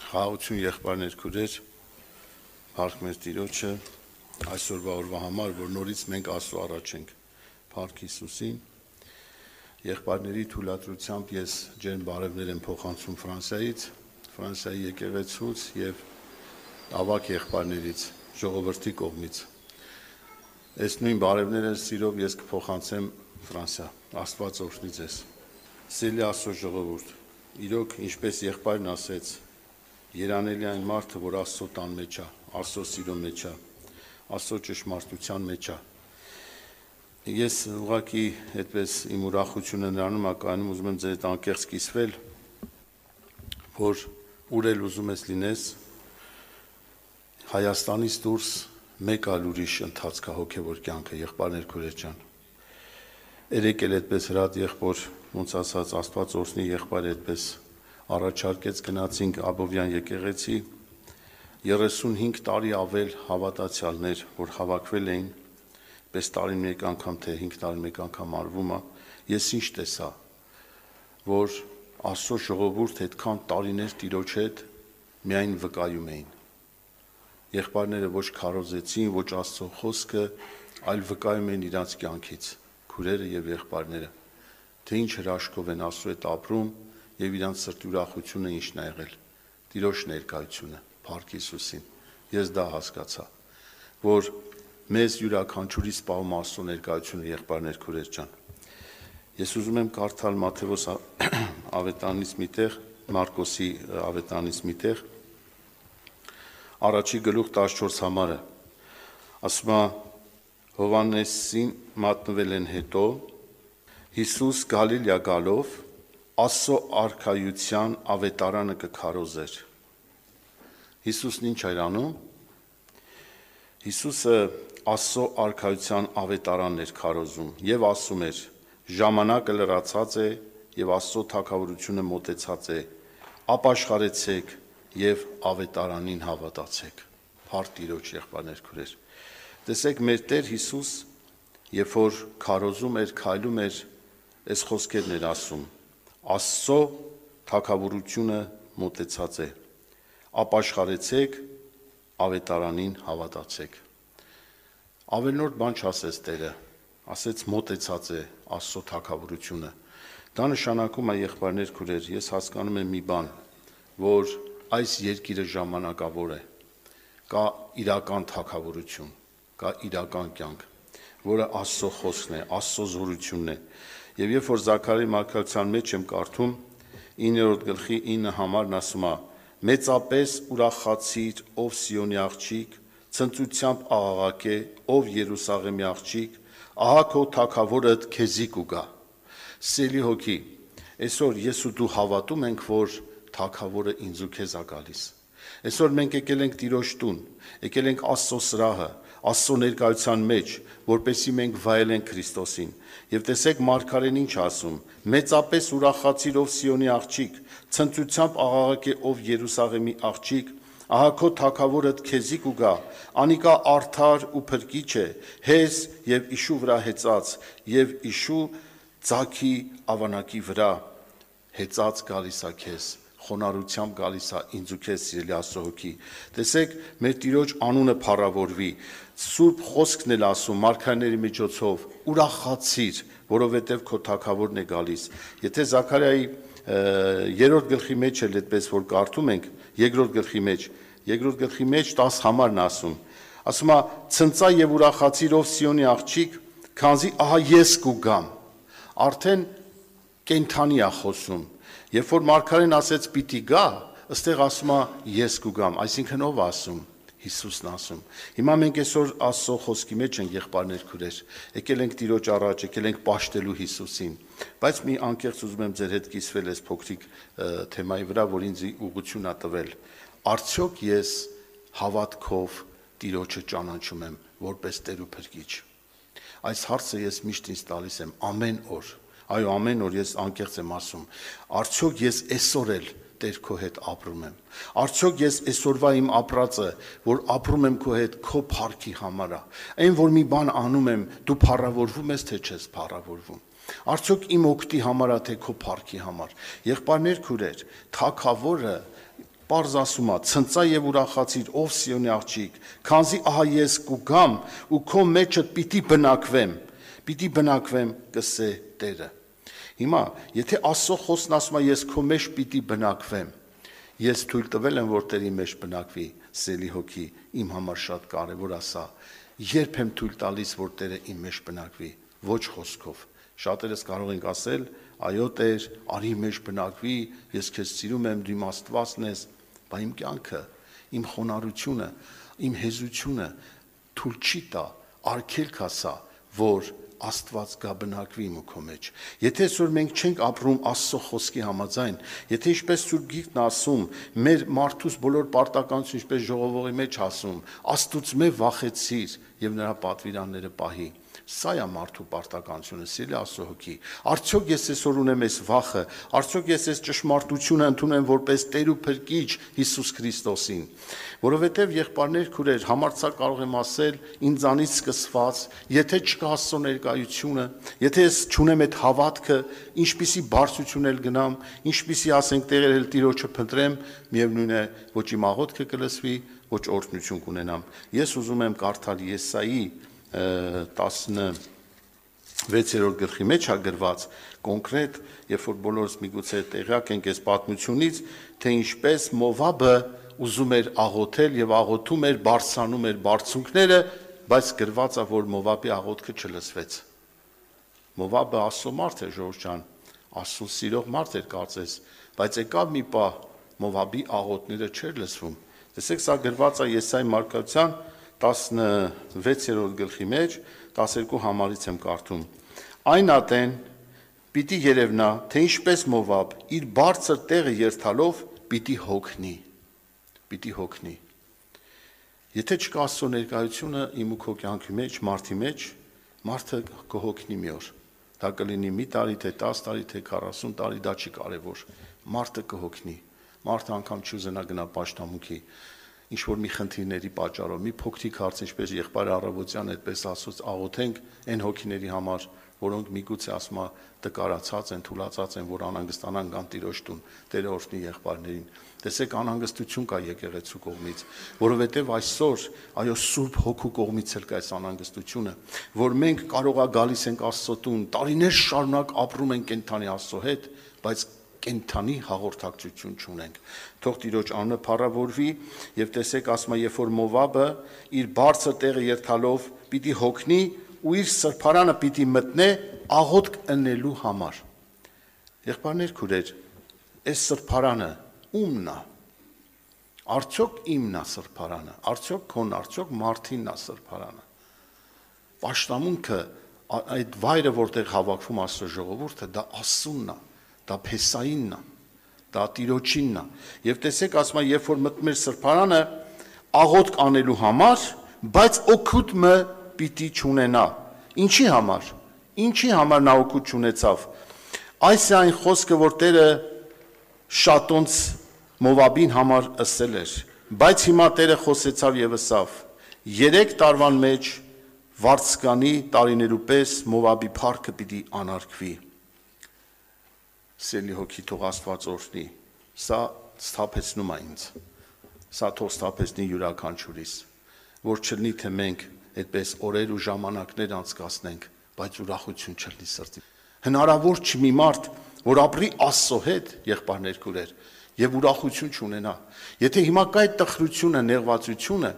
Խաղաղություն եղբայրներ քուրեր, փառք մեր Տիրոջը, այսօրվա օրվա համար, որ նորից մենք Աստծո առաջ ենք, փառք Հիսուսին, եղբայրների թույլատրությամբ ես ջերմ բարևներ եմ փոխանցում Ֆրանսիայի եկեղեցուց եւ ավակ եղբայրներից, ժողովրդի կողմից։ Այս նույն բարևները սիրով ես կփոխանցեմ Ֆրանսիա, Աստված օրհնի ձեզ։ Սիրելի Աստծո ժողովուրդ, իրոք ինչպես եղբայրն ասեց, երանելի այն մարդը, որ Աստծո տան մեջ է, Աստծո սիրո մեջ է, Աստծո ճշմարտության մեջ է։ Ես ուղղակի այդպես իմ ուրախությունը նրանում ակայանում ուզում եմ ձեր հետ անկեղծ կիսվել, որ ուր էլ ուզում ես լինես, Հայաստանից դուրս մեկ այլ ուրիշ ընթացք է հոգևոր կյանքը, եղբայրներ քուրեր ջան։ Երեկ էլ այդպես հրատ եղբոր, ոնց ասած, Աստված օրհնի եղբայր այդպես առաջարկեց գնացինք Աբովյան եկեղեցի 35 տարի ավել հավատացյալներ, որ հավաքվել էին, պես տարին մեկ անգամ թե 5 տարին մեկ անգամ արվում է, ես ինչ տեսա, որ Աստծո ժողովուրդ այդքան տարիներ Տիրոջ հետ միայն վկայում էին։ Եղբայրները ոչ քարոզեցին, ոչ Աստծո խոսքը, այլ վկայում էին իրանց կյանքից, քուրերը եւ եղբայրները, թե ինչ հրաշքով են Աստծո հետ ապրում եւ իրանց սրտի ուրախությունը ինչն է եղել, Տիրոջ ներկայությունը, փառք Հիսուսին։ Ես դա հասկացա, որ մեզ յուրաքանչյուրի սպառում Աստծո ներկայությունը, եղբայրներ քուրեր ջան։ Ես ուզում եմ կարդալ Մատթեոս ավետարանից մի տեղ, Մարկոսի ավետարանից մի տեղ, առաջի գլուխ 14 համարը, ասում է Հովհաննեսին մատնվել են հետո, Հիսուս Գալիլեա գալով Աստծո արքայության ավետարանը կքարոզեր։ Հիսուսն ինչ էր անում։ Հիսուսը Աստծո արքայության ավետարանն էր քարոզում եւ ասում էր. ժամանակը լրացած է եւ Աստծո թագավորությունը մոտեցած է, ապաշխարեցեք եւ ավետարանին հավատացեք։ Փառք Տիրոջ, եղբայրներ քուրեր։ Տեսեք, մեր Տեր Հիսուս, երբ որ քարոզում էր, քայլում էր, այս խոսքերն էր ասում. Աստծո թագավորությունը մոտեցած է, ապաշխարեցեք, ավետարանին հավատացեք։ Ավելնորդ բան չասեց Տերը, ասեց մոտեցած է Աստծո թագավորությունը։ Դա նշանակում է, եղբայրներ քուրեր, ես հասկանում եմ մի բան, որ այս երկիրը ժամանակավոր է, կա իրական թագավորություն, կա իրական կյանք, որը Աստծո խոսքն է, Աստծո զորությունն է։ Եվ երբ որ Զաքարիայի մարգարեության մեջ եմ կարդում 9-րդ գլխի 9 համարն ասում է. մեծապես ուրախացիր, ով Սիոնի աղջիկ, ցնծությամբ աղաղակե, ով Երուսաղեմի աղջիկ, ահա քո թագավորդ քեզի կուգա։ Սիրելի հոգի, այսօր ես ու դու հավատում ենք, որ թագավորը ինձ ու քեզ է գալիս։ Այսօր մենք եկել ենք Տիրոջ տուն, եկել ենք Աստծո սրահը, Աստծո ներկայության մեջ, որպեսզի մենք վայելենք Քրիստոսին։ Եվ տեսեք մարգարեն ինչ ասում. մեծապես ուրախացիր, ով Սիոնի աղջիկ, ցնծությամբ աղաղակե, ով Երուսաղեմի աղջիկ, ահա քո թագավորդ քեզի կուգա, անիկա արդար ու փրկիչ է, հեզ եւ իշու վրա հեծած, եւ իշու ձագի ավանակի վրա հեծած գալիս է քեզ, խոնարհությամբ գալիս է ինձ ու քեզ, սիրելի Աստծո հոգի։ Տեսեք, մեր Տիրոջ անունը փառավորվի, Սուրբ խոսքն էլ ասում մարգարեների միջոցով, ուրախացիր, որովհետև քո թագավորն է գալիս։ Եթե Զաքարիայի 3-րդ գլխի մեջ էլ այդպես որ կարդում ենք, 2-րդ գլխի մեջ 10 համարն ասում է. ցնծա եւ ուրախացիր, ով Սիոնի աղջիկ, քանզի ահա ես կուգամ։ Արդեն կենթանի է խոսում։ Երբ որ մարգարեն ասեց պիտի գա, ըստեղ ասում է ես կուգամ, այսինքն ով ասում։ Հիսուսն ասում։ Հիմա մենք այսօր Աստծո խոսքի մեջ ենք, եղբայրներ քուրեր, եկել ենք Տիրոջ առաջ, եկել ենք պաշտելու Հիսուսին, բայց մի անկեղծ ուզում եմ ձեր հետ կիսվել այս փոքրիկ թեմայի վրա, որ ինձ ուղղություն է տվել։ Արդյոք ես հավատքով Տիրոջը ճանաչում եմ որպես Տեր ու Փրկիչ։ Այս հարցը ես միշտ ինձ տալիս եմ ամեն օր։ Այո, ամեն օր ես անկեղծ եմ ասում։ Արդյոք ես այսօր էլ Տեր քո հետ ապրում եմ։ Արդյոք ես այսօրվա իմ ապրածը, որ ապրում եմ քո հետ, քո փառքի համար է։ Այն որ մի բան անում եմ, դու փառավորվում ես, թե չես փառավորվում։ Արդյոք իմ օգտի համար է, թե քո փառքի համար։ Եղբայրներ քուրեր, թագավորը Պարզ ասում է, ցնծա եւ ուրախացիր, ով Սիոնի աղջիկ, քանզի ահա ես կգամ ու քո մեջդ պիտի բնակվեմ, կսե Տերը։ Հիմա, եթե Աստծո խոսքն ասում է, ես քո մեջ պիտի բնակվեմ, ես թույլ տվել եմ, որ Տերի մեջ բնակվի, սելի հոգի, իմ համար շատ կարևոր է սա։ Երբ եմ թույլ տալիս, որ Տերը իմ մեջ բնակվի, ոչ խոսքով։ Շատերս կարող ենք ասել, այո Տեր, արի մեջ բնակվի, ես քեզ սիրում եմ, դու իմ Աստվածն ես, բայց իմ կյանքը, իմ խոնարհությունը, իմ հեզությունը թույլ չի տա, արգելք է սա, որ Աստված գա բնակվի իմ ու քո մեջ։ Եթե այսօր մենք չենք ապրում Աստծո խոսքի համաձայն, եթե ինչպես Սուրբ Գիրքն ասում, մեր մարդուս բոլոր պարտականություն, ինչպես ժողովողի մեջ ասում, Աստծո վախեցիր եւ նրա պատվիրանները պահի։ Սա է մարդու պարտականությունը, սիրելի Աստծո հոգի։ Արդյոք ես այսօր ունեմ այս վախը, արդյոք ես այս ճշմարտությունը ընդունեմ որպես Տեր ու Փրկիչ Հիսուս Քրիստոսին։ Որովհետև եղբայրներ, քուրեր, համարձակ կարող եմ ասել, ինձանից սկսված, եթե չկա Աստծո ներկայությունը, եթե ես չունեմ այդ հավատքը, ինչպիսի բարձրություն էլ գնամ, ինչպիսի ասենք տեղեր էլ Տիրոջը փնտրեմ, միևնույն է, ոչ իմ աղոթքը կլսվի, ոչ օրհնություն կունենամ։ Ես ուզում եմ կարդալ Եսայի 16-րդ գլխի մեջ է գրված կոնկրետ, երբ որ բոլորս միգուցե տեղյակ ենք այս պատմությունից, թե ինչպես Մովաբը ուզում էր աղոթել եւ աղոթում էր, բարձրանում էր բարձունքները, բայց գրված է, որ Մովաբի աղոթքը չլսվեց։ Մովաբը Աստծո մարդ է, ժողովուրդ ջան, Աստծուն սիրող մարդ էր կարծես, բայց եկավ մի պահ Մովաբի աղոթները չէր լսվում։ Տեսեք, սա գրված է Եսայի մարգարեության 16-րդ գլխի մեջ 12 համարից եմ կարդում։ Այն ատեն պիտի երևնա, թե ինչպես Մովաբ իր բարձր տեղը երթալով պիտի հոգնի։ Եթե չկա Աստծո ներկայությունը իմ ու քո կյանքի մեջ, մարդը կհոգնի մի օր։ Դա կլինի մի տարի, թե 10 տարի, թե 40 տարի, դա չի կարևոր։ Մարդը կհոգնի։ Մարդը անգամ չուզենա գնա պաշտամունքի, ինչ որ մի խնդիրների պատճառով, մի փոքրիկ հարց, ինչպես եղբայր Առավոտյան այդպես ասած աղոթենք այն հոգիների համար, որոնք միգուցե ասում տկարացած են, թուլացած են, որ անհանգստանան գան Տիրոջ տուն, Տերը օրհնի եղբայրներին։ Տեսեք, անհանգստություն կա եկեղեցու կողմից, որովհետև այսօր, այո, Սուրբ Հոգու կողմից էլ կա այս անհանգստությունը, որ մենք կարող է գալիս ենք Աստծո տուն, տարիներ շարունակ ապրում ենք կենթանի Աստծո հետ, բայց կենթանի հաղորդակցություն չունենք։ Թող Տիրոջ անունը փառավորվի եւ տեսեք, ասում է, երբ որ Մովաբը իր բարձր տեղը երթալով պիտի հոգնի ու իր սրբարանը պիտի մտնե աղոթք ընելու համար։ Եղբայրներ, քուրեր, այս սրբարանը ումն է։ Արդյոք իմն է սրբարանը, արդյոք քոն, արդյոք մարդինն է սրբարանը։ Պաշտամունքը, այդ վայրը, որտեղ հավաքվում Աստծո ժողովուրդը, դա Աստծունն է, դա Փեսայինն է, դա Տիրոջինն է։ Եվ տեսեք, ասում է, երբ որ մտնում էր սրբարանը աղոթք անելու համար, բայց օգուտը պիտի չունենա։ Ինչի համար նա օգուտ չունեցավ։ Այս է այն խոսքը, որ Տերը Շատոնց Մովաբին համար ասել էր, բայց հիմա Տերը խոսեցավ եւ ասավ. 3 տարվան մեջ վարձկանի տարիներու պես Մովաբի փառքը պիտի անարգվի։ Սելի հոգի, թող Աստված օրհնի։ Սա սթափեցնում է ինձ։ Սա թող սթափեցնի յուրաքանչյուրիս, որ չլինի թե մենք այդպես օրեր ու ժամանակներ անցկացնենք, բայց ուրախություն չլինի սրտի։ Հնարավոր չի մի մարդ, որ ապրի Աստծո հետ, եղբայրներ, քուրեր, եւ ուրախություն չունենա։ Եթե հիմա կա այդ տխրությունը, նեղվածությունը,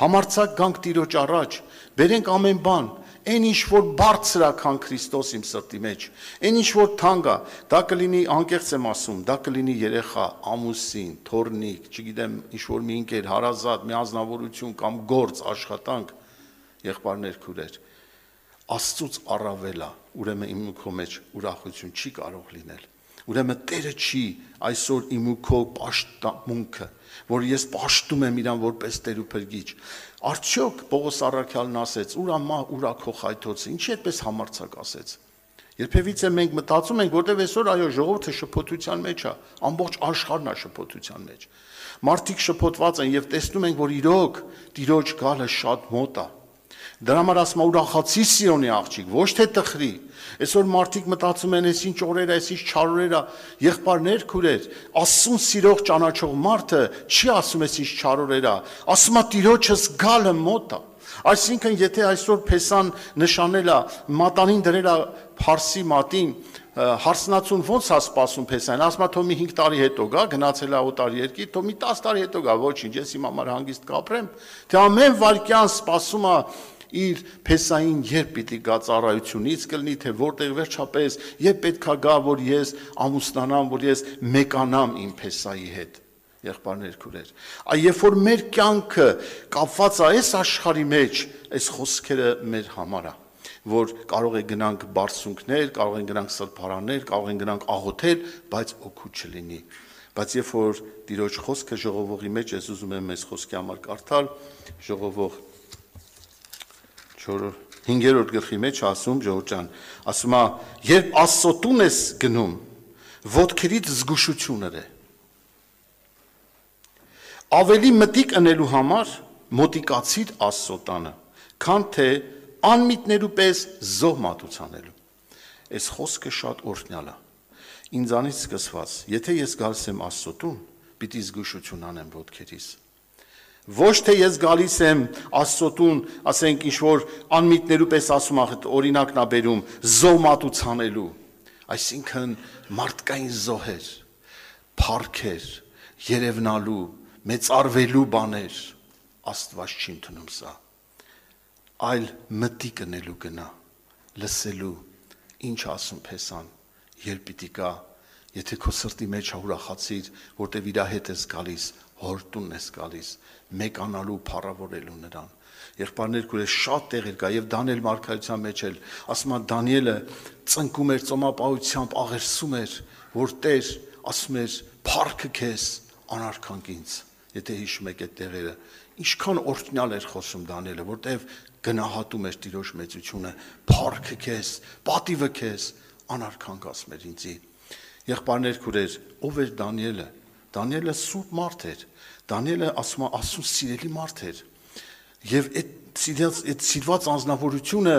համարձակ գանք Տիրոջ առաջ, բերենք ամեն բան, այն ինչ որ բարձր է, քան Քրիստոս իմ սրտի մեջ, այն ինչ որ թանկ է, դա կլինի, անկեղծ եմ ասում, դա կլինի երեխա, ամուսին, թորնիկ, չգիտեմ, ինչ որ մի ընկեր, հարազատ, մի անձնավորություն կամ գործ, աշխատանք, եղբայրներ, քուրեր, Աստծուց առավել է, ուրեմն իմ ու քո մեջ ուրախություն չի կարող լինել։ Ուրեմն Տերը չի այսօր իմ ու քո պաշտամունքը, որ ես պաշտում եմ իրան որպես Տեր ու Փրկիչ։ Արդյոք Պողոս առաքյալն ասեց. «Ուր ամա, ուրա քո խայթոցը», ինչի այդպես համարձակ ասեց։ Երբևիցե մենք մտածում ենք, որտեվ այսօր այո ժողովուրդը շփոթության մեջ է, ամբողջ աշխարհն է շփոթության մեջ։ Մարդիկ շփոթված են եւ տեսնում ենք, որ իրոք Տիրոջ գալը շատ մոտ է։ Դրա համար ասում ուրախացի Սիոնի աղջիկ, ոչ թե տխրի։ Այսօր մարդիկ մտածում են, այս ինչ օրեր, այս ինչ չար օրեր է, եղբայրներ, քուրեր, Աստծուն սիրող ճանաչող մարդը չի ասում այս ինչ չար օրեր է, ասում է Տիրոջս գալը մոտ է։ Այսինքն, եթե այսօր Փեսան նշանել է, մատանին դրել է Փարսի մատին, հարսնացուն ոնց է սպասում Փեսային, ասում է թող մի 5 տարի հետո գա, գնացել է օտար երկիր, թող մի 10 տարի հետո գա, ոչինչ, ես իմ համար հանգիստ կապրեմ, թե ամեն վայրկյան սպասում է իր Փեսային երբ պիտի գա ծառայությունից կլինի, թե որտեղ վերջապես, երբ պետքա գա, որ ես ամուսնանամ, որ ես մեկանամ իմ Փեսայի հետ, եղբայրներ, քուրեր։ Երբ որ մեր կյանքը կապված է այս աշխարհի մեջ, այս խոսքերը մեր համար է, որ կարող է գնանք բարձունքներ, կարող են գնանք սրբարաններ, կարող են գնանք աղոթել, բայց օգուտ չլինի։ Բայց երբ որ Տիրոջ խոսքը ժողովողի մեջ, ես ուզում եմ այս խոսքի համար կարդալ, ժողովող 5-րդ գլխի մեջ ասում Ժողովուրդ ջան, ասում է, երբ Աստծո տուն ես գնում, ոտքերից զգուշություն ըրե։ Ավելի մտիկ ընելու համար մոտիկացիր Աստծո տանը, քան թե անմիտներու պես զոհ մատուցանելու։ Այս խոսքը շատ օրհնյալ է։ Ինձանից սկսված, եթե ես գալիս եմ Աստծո տուն, պիտի զգուշություն անեմ ոտքերիս։ Ոչ թե ես գալիս եմ Աստծո տուն, ասենք ինչ որ անմիտներու պես ասում ախ օրինակն է բերում զոհ մատուցանելու, այսինքն մարդկային զոհեր, փառքեր, երևնալու, մեծարվելու բաներ, Աստված չի ընդունում սա, այլ մտիկ ընելու գնա, լսելու, ինչ ասում Փեսան, երբ պիտի գա, եթե քո սրտի մեջ ուրախացիր, որտեվ իր հետ ես գալիս, հոր տունն ես գալիս, մեկանալու, փառավորելու նրան։ Եղբայրներ, քուրեր, շատ տեղեր կա եւ Դանիել մարգարեության մեջ էլ ասում է Դանիելը ծնկում էր ծոմապահությամբ, աղերսում էր, որ Տեր ասում էր փառքը քեզ անարքանք ինձ։ Եթե հիշում եք այդ տեղերը, ինչքան օրհնյալ էր խոսում Դանիելը, որտեվ գնահատում էր Տիրոջ մեծությունը, փառքը քեզ, պատիվը քեզ անարքանք ասում էր ինձի։ Եղբայրներ, քուրեր, ով էր Դանիելը։ Դանիելը սուրբ մարդ էր։ Դանիելը ասում է Աստծուն սիրելի մարդ էր։ Եվ այդ սիրված անձնավորությունը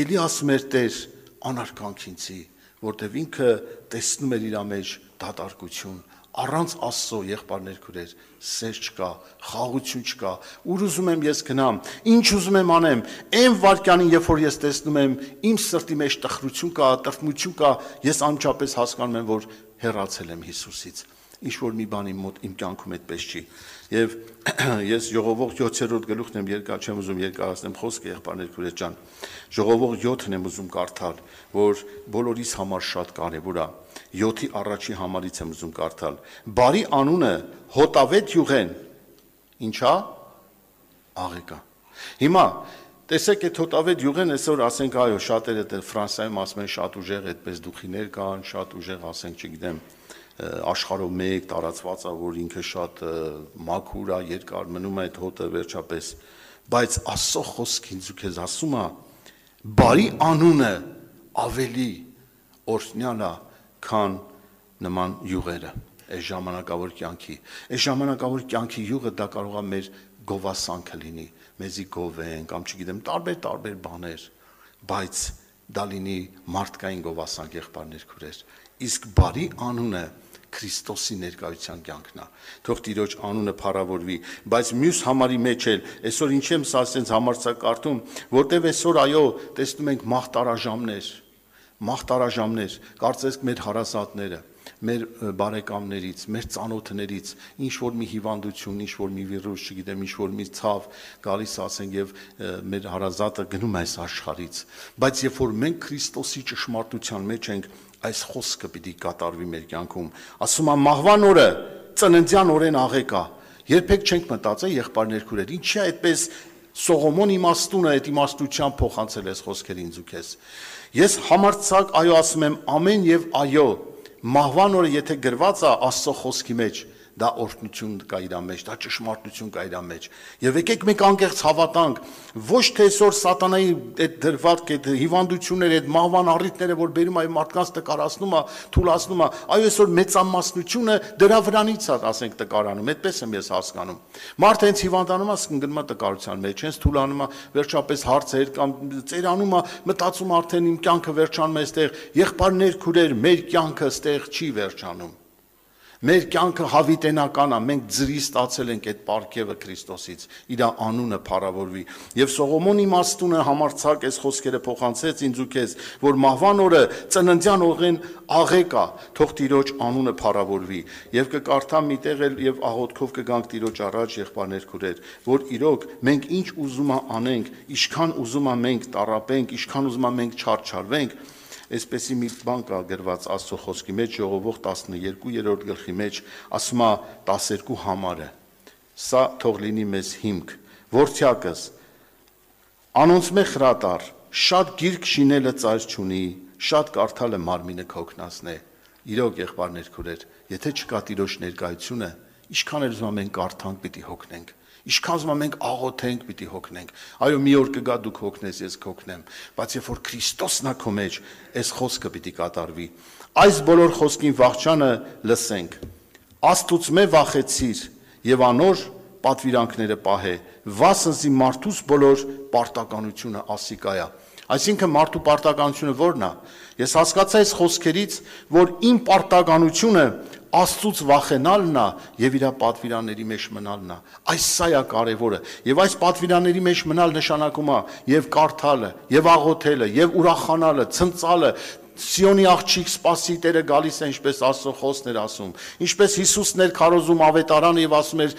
էլի ասում էր Տեր անարքանք ինձի, որտեվ ինքը տեսնում էր իր մեջ դատարկություն, առանց Աստծո եղբայրներ քուրեր, սեր չկա, խաղաղություն չկա, ուր ուզում եմ ես գնամ, ինչ ուզում եմ անեմ, այն վարքյանին, երբ որ ես տեսնում եմ, իմ սրտի մեջ տխրություն կա, տրտմություն կա, ես անմիջապես հասկանում եմ, որ հեռացել եմ Հիսուսից։ Ինչ որ մի բան իմ կյանքում այդպես չի։ Եվ ես Ժողովող 7-րդ գլուխն եմ չեմ ուզում երկարացնեմ խոսքը, եղբայրներ, քուրեր ջան։ Ժողովող 7-ն եմ ուզում կարդալ, որ բոլորիս համար շատ կարևոր է։ 7-ի առաջի համարից եմ ուզում կարդալ։ Բարի անունը հոտավետ յուղեն, ինչա՞, աղեկա։ Հիմա տեսեք այդ հոտավետ յուղեն այսօր ասենք այո, շատերը Ֆրանսիայում ասում են շատ ուժեղ այդպես դուխիներ կան, շատ ուժեղ ասենք, չգիտեմ, աշխարհով մեկ տարածված է, որ ինքը շատ մաքուր է, երկար մնում է այդ հոտը վերջապես, բայց Աստծո խոսքը ինձ ու քեզ ասում է, բարի անունը ավելի օրհնյալ է, քան նման յուղերը, այս ժամանակավոր կյանքի։ Այս ժամանակավոր կյանքի յուղը դա կարող է մեր գովասանքը լինի, մեզի գովեն կամ չգիտեմ, տարբեր բաներ, բայց դա լինի մարդկային գովասանք, եղբայրներ, քուրեր։ Իսկ բարի անունը Քրիստոսի ներկայության կյանքն է։ Թող Տիրոջ անունը փառավորվի, բայց մյուս համարի մեջ էլ այսօր ինչ եմ սա ասենց համարձակարդում, որտեվ այսօր այո, տեսնում ենք մաղթարաժամներ, կարծես մեր հարազատները, մեր բարեկամներից, մեր ծանոթներից, ինչ որ մի հիվանդություն, ինչ որ մի վիրուս, չգիտեմ, ինչ որ մի ցավ գալիս ասենք եւ մեր հարազատը գնում է այս աշխարհից, բայց երբ որ մենք Քրիստոսի ճշմարտության մեջ ենք, այս խոսքը պիտի կատարվի մեր կյանքում։ Ասում է մահվան օրը ծննդյան օրեն աղեկա։ Երբեք չենք մտածել եղբայրներ քուրեր, ինչի է այդպես Սողոմոն իմաստունը այդ իմաստությամբ փոխանցել այս խոսքերը ինձ ու քեզ։ Ես համարձակ այո ասում եմ ամեն եւ այո, մահվան օրը եթե գրված է Աստծո խոսքի մեջ, դա օրհնություն կա իր մեջ, դա ճշմարտություն կա իր մեջ։ Եվ եկեք մենք անկեղծ հավատանք, ոչ թե այսօր սատանայի այդ դրված այդ հիվանդությունները, այդ մահվան առիթները, որ բերում այ մարդկանց տկարացնում է, թուլացնում է, այո այսօր մեծամասնությունը դրա վրանից է, ասենք, տկարանում, այդպես եմ ես հասկանում։ Մարդը հենց հիվանդանում է, գնում է տկարության մեջ, հենց թուլանում է, վերջապես հարցեր կամ ծերանում է, մտածում արդեն իմ կյանքը վերջանում է այստեղ, եղբայրներ, քուրեր, մեր կյանքը այստեղ չի վերջանում։ Մեր կյանքը հավիտենական է, մենք ձրի ստացել ենք այդ պարգևը Քրիստոսից, իր անունը փառավորվի։ Եվ Սողոմոնի իմաստունը համարձակ այս խոսքերը փոխանցեց ինձ ու քեզ, որ մահվան օրը ծննդյան օրեն աղեկ է, թող Տիրոջ անունը փառավորվի։ Եվ կկարդամ միտեղ էլ եւ աղոթքով կգանք Տիրոջ առաջ, եղբայրներ, քուրեր, որ իրոք մենք ինչ ուզում անենք, ինչքան ուզում մենք տառապենք, ինչքան ուզում մենք չարչարվենք, այսպեսի մի բան կա գրված Աստծո խոսքի մեջ, Ժողովուրդ 12-րդ գլխի մեջ, ասում է 12 համարը։ Սա թող լինի մեզ հիմք, որդյակս, անոնցմե խրատար, շատ գիրք շինելը ծայր չունի, շատ կարդալը մարմինը կօգնացնե։ Իրոք եղբայրներ, քուրեր, եթե չկա Տիրոջ ներկայությունը, ինչքան էլ ուզում մենք կարդանք, պիտի հոգնենք։ Ինչքան ուզում մենք աղոթենք, պիտի հոգնենք։ Այո, մի օր կգա դուք հոգնես, ես կհոգնեմ, բայց երբ որ Քրիստոսն է քո մեջ, այս խոսքը պիտի կատարվի։ Այս բոլոր խոսքին վախճանը լսենք։ Աստուծմե վախեցիր եւ անոր պատվիրանքները պահե, վասնզի մարդուս բոլոր պարտականությունը ասիկա է։ Այսինքն մարդու պարտականությունը ո՞րն է։ Ես հասկացա այս խոսքերից, որ իմ պարտականությունը Աստծուց վախենալն է եւ իր պատվիրանների մեջ մնալն է։ Այս սա է կարևորը։ Եվ այս պատվիրանների մեջ մնալ նշանակում է եւ կարդալը, եւ աղոթելը, եւ ուրախանալը, ցնծալը։ Սիոնի աղջիկ սպասի Տերը գալիս է, ինչպես Աստծո խոսքն էր ասում։ Ինչպես Հիսուսն էր քարոզում ավետարանը եւ ասում էր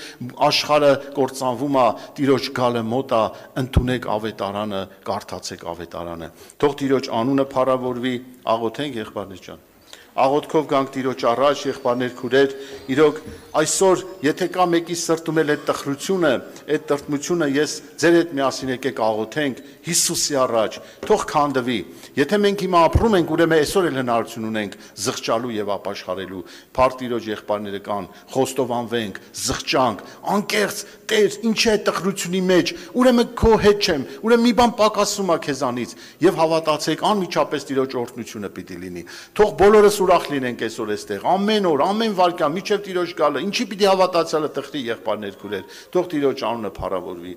աշխարհը կործանվում է, Տիրոջ գալը մոտ է, ընդունեք ավետարանը, կարդացեք ավետարանը։ Թող Տիրոջ անունը փառավորվի, աղոթենք եղբայրներ ջան։ Աղոթքով գանք Տիրոջ առաջ, եղբայրներ, քուրեր, իրոք այսօր եթե կա մեկի սրտում էլ այդ տխրությունը, այդ տրտմությունը, ես ձեր հետ միասին եկեք աղոթենք Հիսուսի առաջ, թող քանդվի։ Եթե մենք հիմա ապրում ենք, ուրեմն այսօր էլ հնարավորություն ունենք զղջալու եւ ապաշխարելու։ Փառք Տիրոջ, եղբայրները կան, խոստովանվենք, զղջանք, անկեղծ Տեր, ինչ է տխրությունի մեջ, ուրեմն քո հետ չեմ, ուրեմն մի բան պակասում է քեզանից եւ հավատացեք, անմիջապես Տիրոջ օրհնությունը պիտի լինի։ Թող բոլորս ուրախ լինենք այսօր այստեղ, ամեն օր, ամեն վայրկյան, միջև Տիրոջ գալը, ինչի պիտի հավատացյալը տխրի եղբայրներ, քուրեր, թող Տիրոջ անունը փառավորվի։